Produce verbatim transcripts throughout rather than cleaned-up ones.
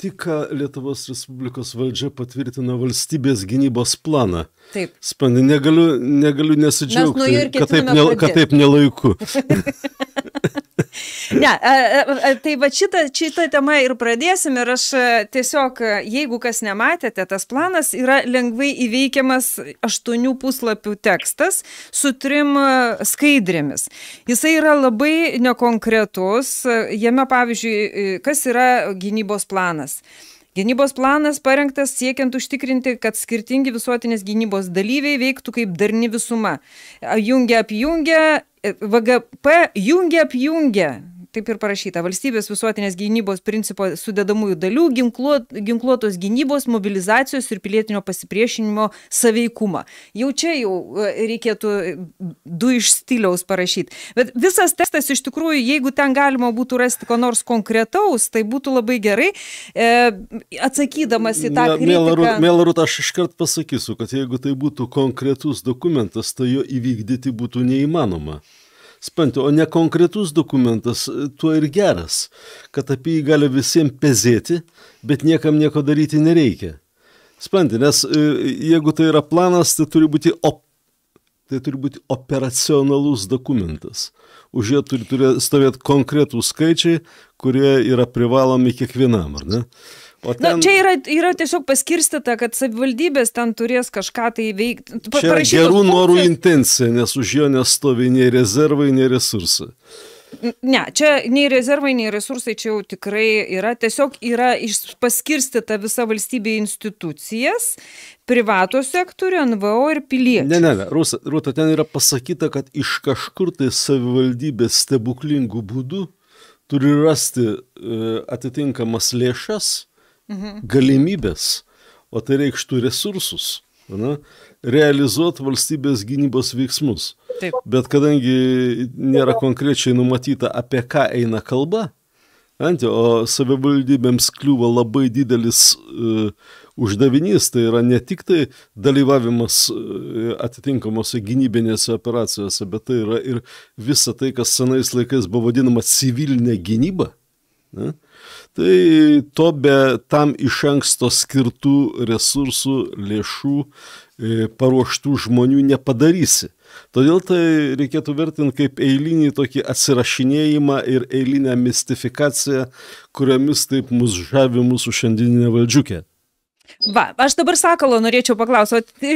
tik Lietuvos Respublikos valdžia patvirtino valstybės gynybos planą. Taip. Spandi, negaliu, negaliu nesidžiaugti, kad taip, ne, kad taip nelaiku. Ne, tai va šitą, šitą temą ir pradėsim ir aš tiesiog, jeigu kas nematėte, tas planas yra lengvai įveikiamas aštuonių puslapių tekstas su trim skaidrėmis. Jisai yra labai nekonkretus, jame pavyzdžiui, kas yra gynybos planas. Gynybos planas parengtas siekiant užtikrinti, kad skirtingi visuotinės gynybos dalyviai veiktų kaip darni visuma. Jungia apjungia, V G P jungia apjungia. Taip ir parašyta, valstybės visuotinės gynybos principo sudedamųjų dalių, ginkluot, ginkluotos gynybos, mobilizacijos ir pilietinio pasipriešinimo saveikumą. Jau čia jau reikėtų du iš stiliaus parašyti. Bet visas tekstas iš tikrųjų, jeigu ten galima būtų rasti ko nors konkretaus, tai būtų labai gerai, e, atsakydamas į tą kritiką. Mėla Rūta, aš iškart pasakysiu, kad jeigu tai būtų konkretus dokumentas, tai jo įvykdyti būtų neįmanoma. Spanti, o ne konkretus dokumentas, tuo ir geras, kad apie jį gali visiems pezėti, bet niekam nieko daryti nereikia. Spanti, nes jeigu tai yra planas, tai turi būti, op, tai turi būti operacionalus dokumentas. Už jo turi, turi stovėti konkretūs skaičiai, kurie yra privalomi kiekvienam, ar ne? O ten... Na, čia yra, yra tiesiog paskirstyta, kad savivaldybės ten turės kažką tai veikti. Čia yra gerų norų intencija, nes už jo nestovi nei rezervai, nei resursai. Ne, čia nei rezervai, nei resursai čia jau tikrai yra. Tiesiog yra paskirstyta visa valstybė institucijas, privato sektorių, N V O ir piliečių. Ne, ne, ne, Rūta, Rūta, ten yra pasakyta, kad iš kažkur tai savivaldybės stebuklingų būdų turi rasti e, atitinkamas lėšas, Mhm. galimybės, o tai reikštų resursus, na, realizuoti valstybės gynybos veiksmus. Taip. Bet kadangi nėra konkrečiai numatyta, apie ką eina kalba, ant, o savivaldybėms kliūva labai didelis uh, uždavinys, tai yra ne tik tai dalyvavimas uh, atitinkamose gynybinėse operacijose, bet tai yra ir visa tai, kas senais laikais buvo vadinama civilinė gynyba. Ne? Tai to be tam iš anksto skirtų resursų, lėšų, e, paruoštų žmonių nepadarysi. Todėl tai reikėtų vertinti kaip eilinį tokį atsirašinėjimą ir eilinę mistifikaciją, kuriomis taip mus žavi mūsų šiandieninė valdžiukė. Va, aš dabar Sakalo norėčiau paklausyti,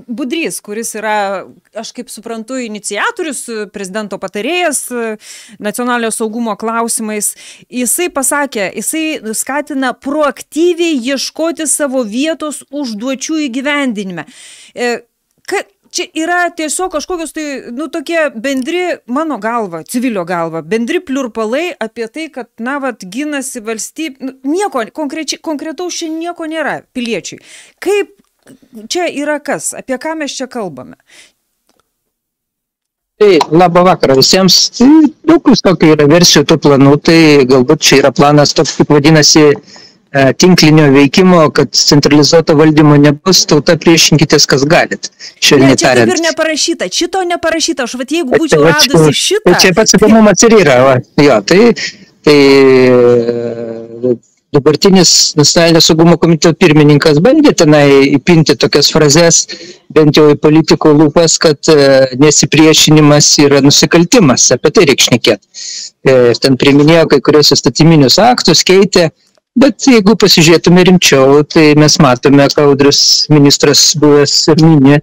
Budrys, kuris yra, aš kaip suprantu, iniciatorius, prezidento patarėjas nacionalinio saugumo klausimais, jisai pasakė, jisai skatina proaktyviai ieškoti savo vietos užduočių įgyvendinime. Ka, čia yra tiesiog kažkokios tai, nu, tokie bendri, mano galva, civilio galva, bendri pliurpalai apie tai, kad, na, vat, ginasi valstybė, nu, nieko, konkretaus čia nieko nėra piliečiui. Kaip čia yra kas, apie ką mes čia kalbame? Tai labą vakarą visiems. Tai daug visokių yra versijų tų planų, tai galbūt čia yra planas toks, kaip vadinasi, tinklinio veikimo, kad centralizuoto valdymo nebus, tauta priešinkitės, kas galit. Ne, čia taip ir neparašyta, šito neparašyta, aš vat jeigu būčiau radusi šitą... Tai čia pats įdomumas ir yra, va. Jo, tai, tai dabartinis nacionalinio saugumo komiteto pirmininkas bandė tenai įpinti tokias frazes, bent jau į politikų lūpas, kad nesipriešinimas yra nusikaltimas, apie tai reikia šnekėti. Ten priiminėjo kai kurios įstatyminius aktus, keitė. Bet jeigu pasižiūrėtume rimčiau, tai mes matome, ką Audrius ministras buvęs ir minė,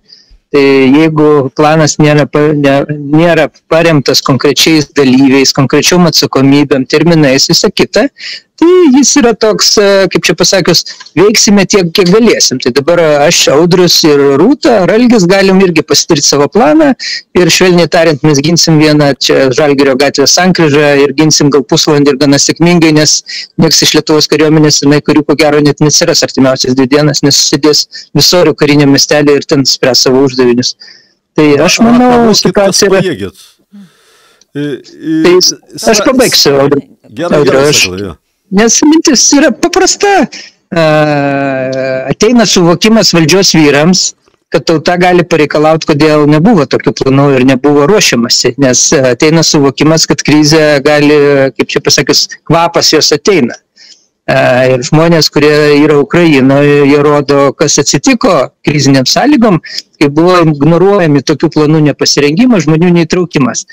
tai jeigu planas nėra, ne, nėra paremtas konkrečiais dalyviais, konkrečiom atsakomybėm, terminais, visą kitą, tai jis yra toks, kaip čia pasakius, veiksime tiek, kiek galėsim. Tai dabar aš, Audrius ir Rūta, ar Algis galim irgi pasidaryti savo planą ir švelniai tariant, mes ginsim vieną čia Žalgirio gatvės sankryžą ir ginsim gal pusvalandį ir gana sėkmingai, nes nieks iš Lietuvos kariuomenės, jinai karių ko gero net nesiras artimiausias dvi dienas, nes susidės Visorių kariniam miestelį ir ten spręs savo uždavinius. Tai aš manau, situacija yra... Tai aš pabaigsiu, Audriu. Nes mintis yra paprasta. Ateina suvokimas valdžios vyrams, kad tauta gali pareikalauti, kodėl nebuvo tokių planų ir nebuvo ruošiamasi. Nes ateina suvokimas, kad krizė gali, kaip čia pasakius, kvapas jos ateina. Ir žmonės, kurie yra Ukrainoje, jie rodo, kas atsitiko kriziniam sąlygom, kai buvo ignoruojami tokių planų nepasirengimas, žmonių neįtraukimas.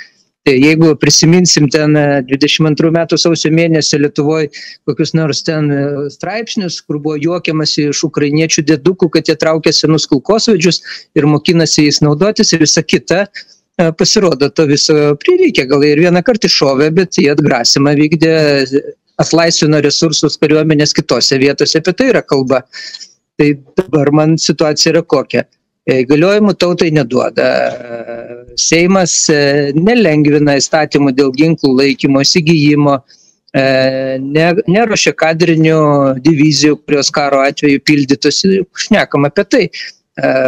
Tai jeigu prisiminsim ten dvidešimt antrų metų sausio mėnesį Lietuvoje kokius nors ten straipsnius, kur buvo juokiamasi iš ukrainiečių dėdukų, kad jie traukia senus kulkosvaidžius ir mokinasi jais naudotis ir visa kita, pasirodo, to viso prireikė. Gal ir vieną kartą iššovė, bet jie atgrasimą vykdė, atlaisvino resursus kariuomenės kitose vietose, apie tai yra kalba. Tai dabar man situacija yra kokia. Įgaliojimų tautai neduoda. Seimas nelengvina įstatymų dėl ginklų laikymo, įsigijimo, neruošia kadrinių divizijų, kurios karo atveju pildytųsi, šnekam apie tai.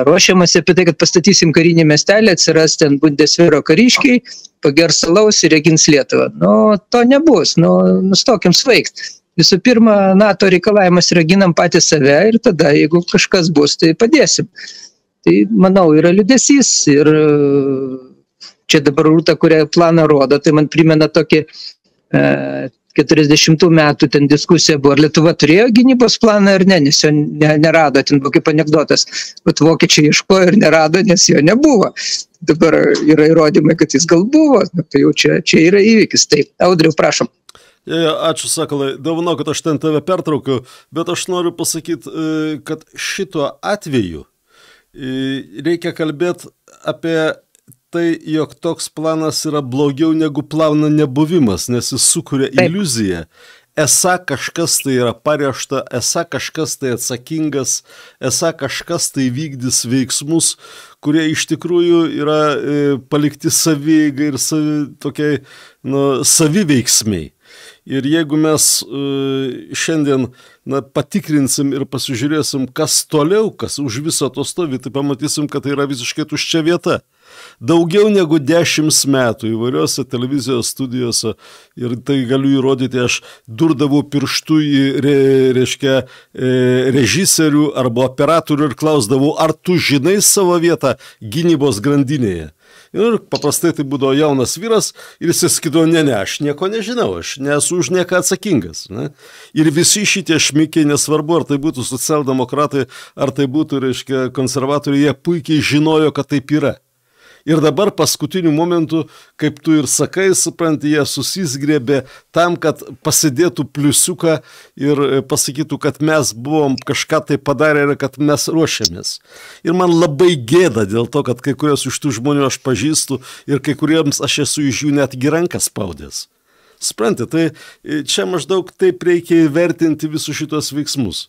Ruošiamasi apie tai, kad pastatysim karinį miestelį, atsiras ten Bundesvero kariškiai, pagers alaus ir regins Lietuvą. Nu, to nebus, nu, nustokim svaigt. Visų pirma, NATO reikalavimas yra ginam patys save ir tada, jeigu kažkas bus, tai padėsim. Tai, manau, yra liūdesys ir čia dabar Rūta, kurią planą rodo, tai man primena tokį e, keturiasdešimtų metų ten diskusija buvo, ar Lietuva turėjo gynybos planą ar ne, nes jo ne, nerado, ten buvo kaip anekdotas, bet vokiečiai ieškojo ir nerado, nes jo nebuvo. Dabar yra įrodymai, kad jis gal buvo, tai jau čia, čia yra įvykis. Taip, Audriau, prašom. Ačiū, Sakalai, dovano, kad aš ten tave pertraukiu, bet aš noriu pasakyti, kad šituo atveju reikia kalbėti apie tai, jog toks planas yra blogiau negu plano nebuvimas, nes jis sukuria iliuziją. Esą kažkas tai yra paruošta, esą kažkas tai atsakingas, esą kažkas tai vykdys veiksmus, kurie iš tikrųjų yra e, palikti savieigai ir savi, tokiai, nu, saviveiksmiai. Ir jeigu mes e, šiandien na, patikrinsim ir pasižiūrėsim, kas toliau, kas už viso to stovi, tai pamatysim, kad tai yra visiškai tuščia vieta. Daugiau negu dešimt metų įvairiose televizijos studijose, ir tai galiu įrodyti, aš durdavau pirštų į re, reiškia, e, režisierių arba operatorių ir klausdavau, ar tu žinai savo vietą gynybos grandinėje. Ir paprastai tai būdavo jaunas vyras ir jis sakydavo, ne, ne, aš nieko nežinau, aš nesu už nieką atsakingas. Ne? Ir visi šitie šmikiai, nesvarbu, ar tai būtų socialdemokratai, ar tai būtų, reiškia, konservatoriai, jie puikiai žinojo, kad taip yra. Ir dabar paskutiniu momentu, kaip tu ir sakai, supranti, jie susisgrėbė tam, kad pasidėtų pliusiuką ir pasakytų, kad mes buvom kažką tai padarę ir kad mes ruošiamės. Ir man labai gėda dėl to, kad kai kurios iš tų žmonių aš pažįstu ir kai kuriems aš esu iš jų netgi rankas spaudęs. Supranti, tai čia maždaug taip reikia įvertinti visus šitos veiksmus.